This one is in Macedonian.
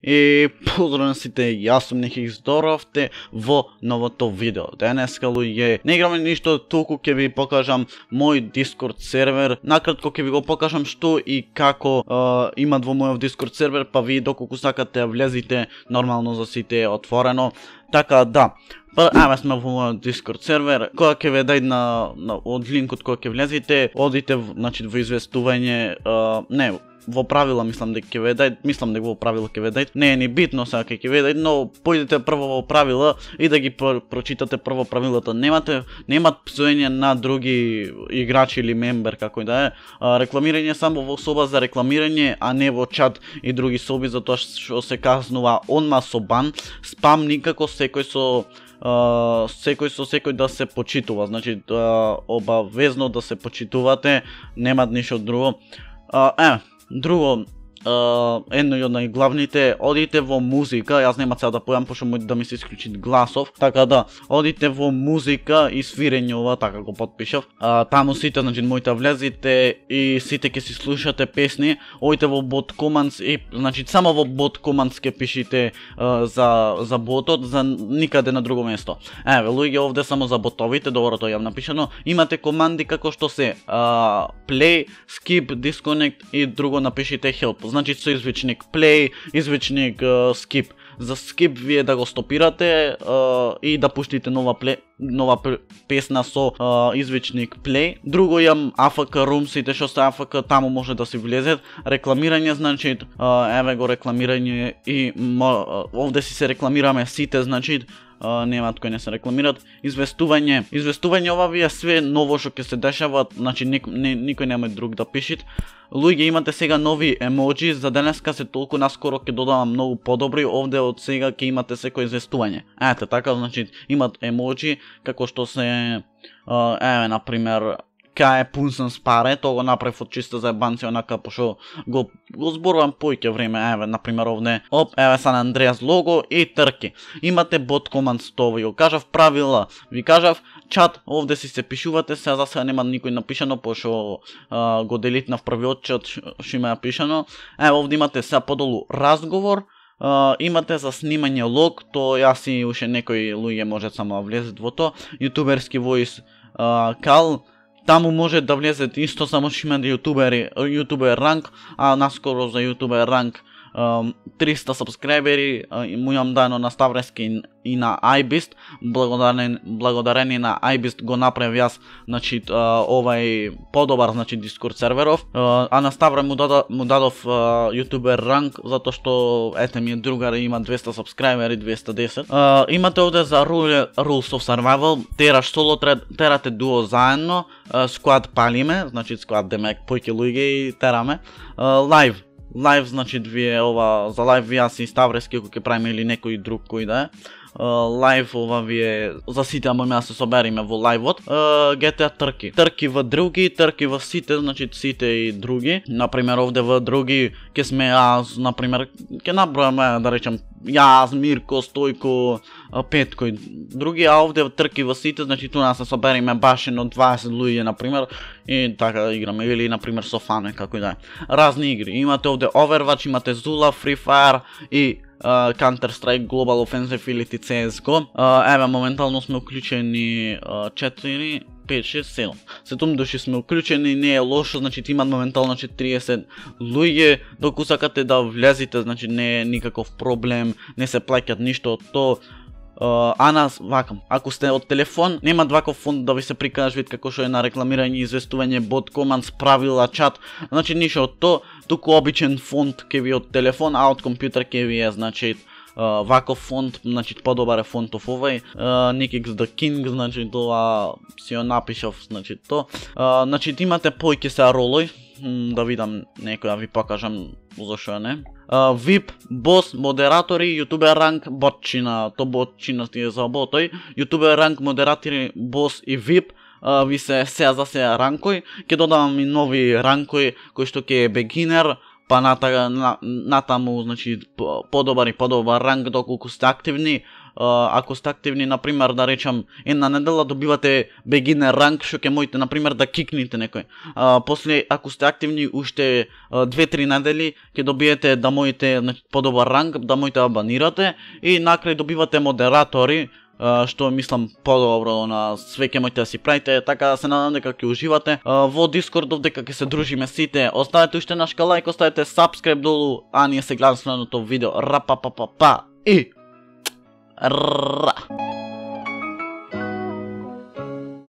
И поздрав на сите, јас сум Ники, здоровте во новото видео. Денеска луѓе, не играме ништо, толку ќе ви покажам мој Discord сервер. Накратко ќе ви го покажам што и како имат во мојот Discord сервер, па ви доколку сакате влезите, нормално за сите е отворено. Така да, еве сме во мојот Discord сервер. Кога ќе ви дај од линкот кога ќе влезете, одите значи во известување, не во правила мислам дека ќе ве дај, мислам дека во правила ќе ве дај. Не е ни битно сега ќе ве дај, но појдете прво во правила и да ги прочитате прво правилата. Немат псување на други играчи или мембер како и да е. Рекламирање само во соба за рекламирање, а не во чат и други соби, затоа што се казнува онма со бан. Спам никако, секој со секој да се почитува. Значи обавезно да се почитувате, нема ништо друго. Друго, едно од најглавните, одите во музика, јас нема сега да појам, пошто може да ми се исклучи гласов, така да, одите во музика и свирење ова, така го подпишав. Таму сите, значи, моите влезите и сите ќе си слушате песни, одите во bot commands и, значи, само во bot commands ќе пишите за ботот, за никаде на друго место. Еве, луѓе, овде само за ботовите, добро тоа јам напишано, имате команди како што се play, skip, disconnect и друго напишите help. Значи со извичник play, извичник skip. За skip вие да го стопирате и да пуштите нова песна со извичник play. Друго јам AFK room, сите што се AFK таму може да си влезет. Рекламирање, значи еве го рекламирање и овде си се рекламираме сите, значи немаат кои не се рекламират. Известување ова ви е све ново што ќе се дешава, значи никој нема друг да пишит. Луѓе, имате сега нови емоджи, за денеска се толку наскоро ќе додавам многу подобри, овде од сега ќе имате секој известување. Ете така, значи имат емоджи како што се еве на пример кај е пунсен с паре, тоа го направив од чиста заебанција, онака пошо го зборувам поиќе време, еве на пример овде, еве Сан Андреас лого и трки. Имате bot commands, тоа ви го кажав, правила ви кажав, чат овде си се пишувате, сега за сега нема никој напишано, пошо го делитнав првиот чат што има напишано. Еве овде имате сега подолу разговор, имате за снимање лог, тоа јас и уште некои луѓе може само да влезат во тоа, јутуберски voice call. Таму може да влезете исто, само што има јутубер ранк, а наскоро за јутубер ранк 300 сабскрајбери му имам дано на Ставрески и на iBeast. Благодарение на iBeast го направив јас, значи овај подобар, значи Discord серверов, а на Ставре му дадов јутубер ранк затоа што ете ми е другар, има 200 сабскрајбери, 210. Имате овде за Rules of Survival, тераш соло, терате дуо заедно, squad палиме, значи squad демек појќе луѓе и тераме. Live, значи вие ова за лайв јас и Ставрески ако ќе правиме или некој друг кој да е. Лайв ова вие за сите можеме да се собериме во лајвот. GTA трки во други, трки во сите, значи сите и други. Например овде во други ќе сме јас, например ќе набројаме да речем јас, Мирко, Стојко, Петко и други, а овде трки во сите, значи туна се собериме баш едно 20 луѓе например и така играме, или например со фане како и да е. Разни игри. Имате овде Overwatch, имате Zula, Free Fire и Counter-Strike, Global Offensive или CSGO. Еве моментално сме уклучени 4, 5, 6, 7. 7 души сме уклучени, не е лошо, значи имат моментално 30 луѓе, доколку сакате да влезите, значи не е никаков проблем, не се плаќат ништо од тоа. А нас вакам, ако сте од телефон, нема ваков фонд да ви се прикажа вид како што е на рекламирање, известување, bot commands, правила, чат, значи ништо од тоа, туку обичен фонд ќе ви од телефон, а од компјутер ќе ви е, значи ваков фонд, значи подобар е фонтов овај, Nikix the King, значи тоа си ја напишав, значи тоа. Значи имате поиќе се ролој, да видам некој да ви покажам зашо не. VIP, бос, модератори, јутубер ранк, ботчина, то ботчина ти е за ботој, јутубер ранк, модератори, бос и VIP, ви се сега за сега ранкој, ќе додавам и нови ранкој, кој што ќе е beginner, па натаму, значи подобар и подобар ранг доколку сте активни. Ако сте активни, например, да речам, една недела добивате beginner ранг, што ќе можете, например, да кикнете некој. После, ако сте активни уште 2-3 недели, ќе добиете да можете подобар ранг, да можете да банирате и накрај добивате модератори, што мислам подобро на све ќе можете да си правите, така да се надам дека ќе уживате во Дискордов, дека ќе се дружиме сите. Оставете уште нашка лајк, оставете subscribe долу, а ние се гледаме следното видео. Рапапапапа и ра.